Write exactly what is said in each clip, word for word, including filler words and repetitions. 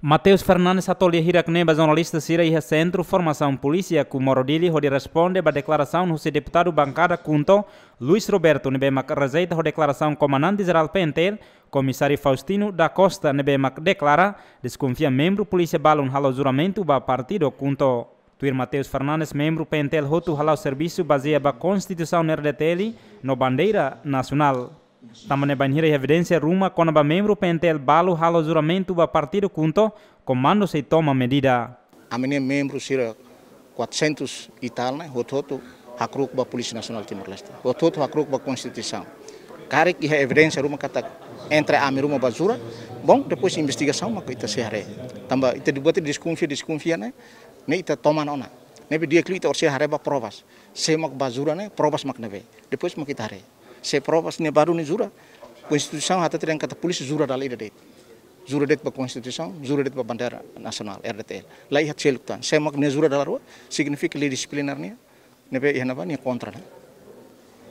Mateus Fernandes hato'o lia hirak-ne'e ba jornalista sira iha Sentru Formasaun Polísia Comoro Dili hodi responde ba deklarasaun husi deputadu bankada KHUNTO, Luis Roberto, ne'ebé mak rejeita ho deklarasaun Komandante Jerál P N T L, Komisáriu Faustino da Costa, ne'ebé mak deklara deskonfia membru polísia balun halo juramentu ba partidu KHUNTO. Tuir Mateus Fernandes, membru P N T L hotu hala'o servisu bazeia ba Konstituisaun R D T L no bandeira nasionál. Tanba ne'e bainhira evidénsia ruma kona-ba membru P N T L balu halo juramentu ba partidu KHUNTO, komandu sei toma medida. Ami-nia membru sira quatrocentos e tal ne'e, hotu-hotu hakru'uk ba Polísia Nasionál Timor-Leste. Hotu-hotu hakru'uk ba Konstituisaun. Karik iha evidénsia ruma katak entre ami ruma ba jura, bom, depois investigasaun mak ita sei haree. Tanba ita dibuat deskonfia, deskonfia ne'e, ne'e ita toman ona. Ne'ebé di'ak liu ita orsida haree ba provas. Sé mak ba jura ne'e, provas mak ne'ebé. Depois mak ita haree. Se provas ne'e balu ne'e jura, Konstituisaun hatete dehan katak polísia jura dala ida de'it. Jura de'it ba Konstituisaun, jura de'it ba bandeira nasionál, R D T L. La iha seluk tan. Sé mak nia jura dala rua, signifika lei dixiplinár nian, ne'ebé iha ne'ebá nia kontra ne'e.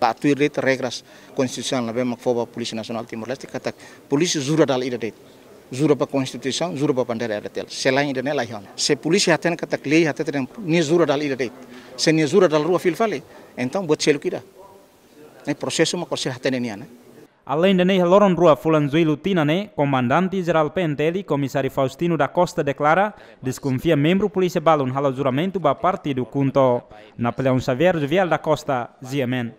La tuir de'it regras konstitusionál ne'ebé mak fó ba Polísia Nasionál Timor-Leste katak polísia jura dala ida de'it. Jura ba Konstituisaun, jura ba bandeira R D T L. Selain ida-ne'e la iha ona. Se polísia hatene katak lei hatete dehan nia jura dala ida de'it. Se nia jura dala rua fila fali, entaun buat seluk ida. Ne'e prosesu mak orsida hatene nian, ne'e. Aleinde ne'e, iha loron rua fulan Jullu tinan ne'e, Komandante Jerál P N T L, Komisáriu Faustino da Costa deklara deskonfia membru polísia balun halo juramentu ba partidu KHUNTO. Napoleão Xavier, Jovial da Costa, G M N.